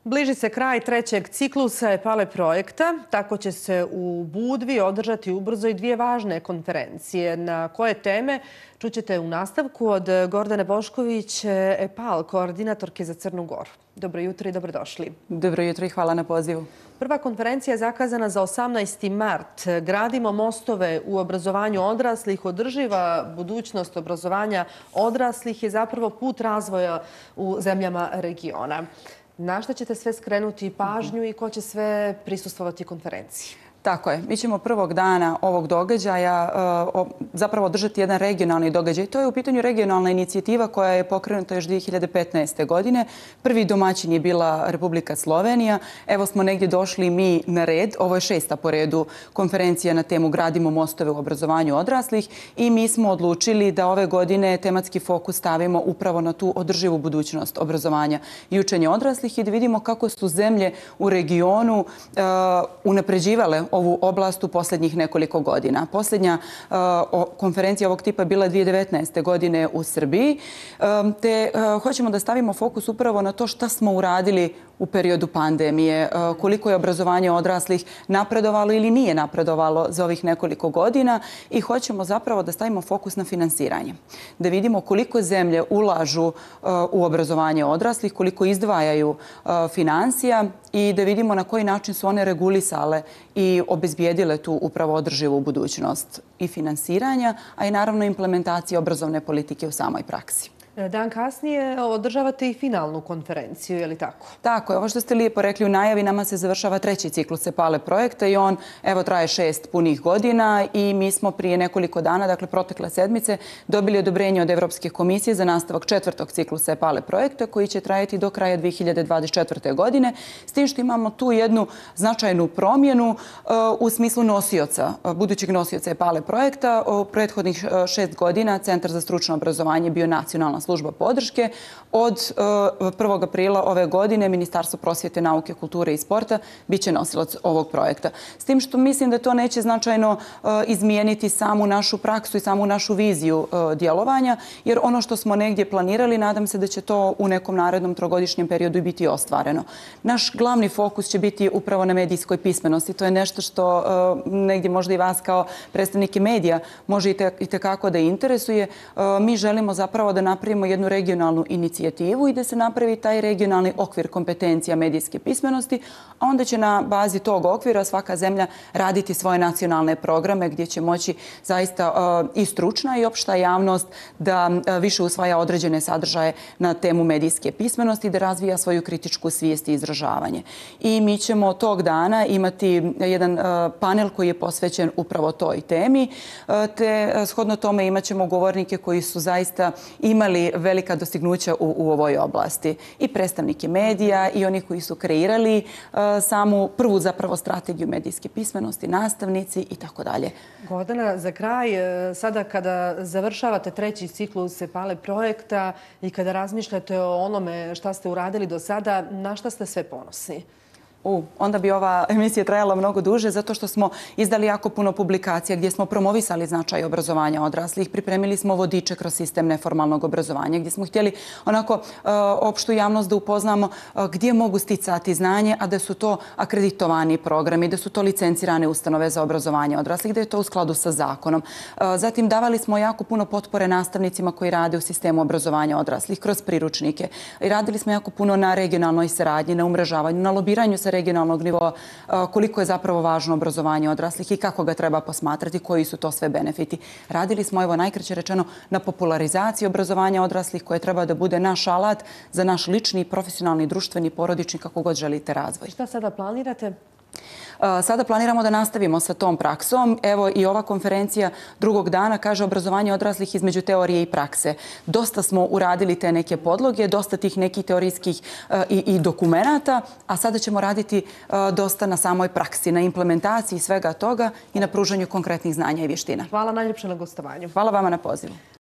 Bliži se kraj trećeg ciklusa EPALE projekta. Tako će se u Budvi održati ubrzo i dvije važne konferencije. Na koje teme čućete u nastavku od Gordane Bošković, EPAL, koordinatorke za Crnu Goru. Dobro jutro i dobrodošli. Dobro jutro i hvala na pozivu. Prva konferencija je zakazana za 18. mart. Gradimo mostove u obrazovanju odraslih. Održiva budućnost obrazovanja odraslih je zapravo put razvoja u zemljama regiona. Na šta ćete sve skrenuti pažnju i ko će sve prisustvovati konferenciji? Tako je. Mi ćemo prvog dana ovog događaja zapravo održati jedan regionalni događaj. To je u pitanju regionalna inicijativa koja je pokrenuta još 2015. godine. Prvi domaćin je bila Republika Slovenija. Evo smo negdje došli mi na red. Ovo je 6. po redu konferencija na temu Gradimo mostove u obrazovanju odraslih i mi smo odlučili da ove godine tematski fokus stavimo upravo na tu održivu budućnost obrazovanja i učenja odraslih i da vidimo kako su zemlje u regionu unapređivale ovu oblast u posljednjih nekoliko godina. Posljednja konferencija ovog tipa je bila 2019. godine u Srbiji, te hoćemo da stavimo fokus upravo na to šta smo uradili u periodu pandemije, koliko je obrazovanje odraslih napredovalo ili nije napredovalo za ovih nekoliko godina i hoćemo zapravo da stavimo fokus na finansiranje. Da vidimo koliko zemlje ulažu u obrazovanje odraslih, koliko izdvajaju financija i da vidimo na koji način su one regulisale i obezbijedile tu upravo održivu budućnost i finansiranja, a i naravno implementacije obrazovne politike u samoj praksi. Dan kasnije održavate i finalnu konferenciju, je li tako? Tako je. Ovo što ste lijepo rekli u najavi, nama se završava treći ciklus EPALE projekta i on traje 6 punih godina i mi smo prije nekoliko dana, dakle protekle sedmice, dobili odobrenje od Evropske komisije za nastavak četvrtog ciklusa EPALE projekta koji će trajati do kraja 2024. godine. S tim što imamo tu jednu značajnu promjenu u smislu nosioca, budućeg nosioca EPALE projekta. U prethodnih 6 godina Centar za stručno obrazovanje bio nacionalna služba podrške. Od 1. aprila ove godine Ministarstvo prosvjete, nauke, kulture i sporta bit će nosilac ovog projekta. S tim što mislim da to neće značajno izmijeniti samu našu praksu i samu našu viziju djelovanja, jer ono što smo negdje planirali, nadam se da će to u nekom narednom trogodišnjem periodu i biti ostvareno. Naš glavni fokus će biti upravo na medijskoj pismenosti. To je nešto što negdje možda i vas kao predstavnike medija može itekako da interesuje. Mi želimo zapravo da napravimo jednu regionalnu inicijativu i da se napravi taj regionalni okvir kompetencija medijske pismenosti, a onda će na bazi tog okvira svaka zemlja raditi svoje nacionalne programe gdje će moći zaista i stručna i opšta javnost da više usvaja određene sadržaje na temu medijske pismenosti, da razvija svoju kritičku svijest i izražavanje. I mi ćemo tog dana imati jedan panel koji je posvećen upravo toj temi, te shodno tome imat ćemo govornike koji su zaista imali velika dostignuća u ovoj oblasti. I predstavnike medija i oni koji su kreirali samu prvu zapravo strategiju medijske pismenosti, nastavnici i tako dalje. Gordana, za kraj, sada kada završavate treći ciklus EPALE projekta i kada razmišljate o onome šta ste uradili do sada, na šta ste sve ponosni? Onda bi ova emisija trajala mnogo duže zato što smo izdali jako puno publikacija gdje smo promovisali značaj obrazovanja odraslih. Pripremili smo vodiče kroz sistem neformalnog obrazovanja gdje smo htjeli onako opštu javnost da upoznamo gdje mogu sticati znanje, a da su to akreditovani programi, da su to licencirane ustanove za obrazovanje odraslih, da je to u skladu sa zakonom. Zatim davali smo jako puno potpore nastavnicima koji rade u sistemu obrazovanja odraslih kroz priručnike. I radili smo jako puno na regionalnoj saradnji, na umrežavanju, na lobiranju sa regionalnog nivoa, koliko je zapravo važno obrazovanje odraslih i kako ga treba posmatrati, koji su to sve benefiti. Radili smo, evo najkraće rečeno, na popularizaciji obrazovanja odraslih koje treba da bude naš alat za naš lični, profesionalni, društveni, porodični, kako god želite razvoj. Šta sada planirate? Sada planiramo da nastavimo sa tom praksom. Evo i ova konferencija drugog dana kaže obrazovanje odraslih između teorije i prakse. Dosta smo uradili te neke podloge, dosta tih nekih teorijskih i dokumenata, a sada ćemo raditi dosta na samoj praksi, na implementaciji svega toga i na pružanju konkretnih znanja i vještina. Hvala najljepše na gostovanju. Hvala vama na pozivu.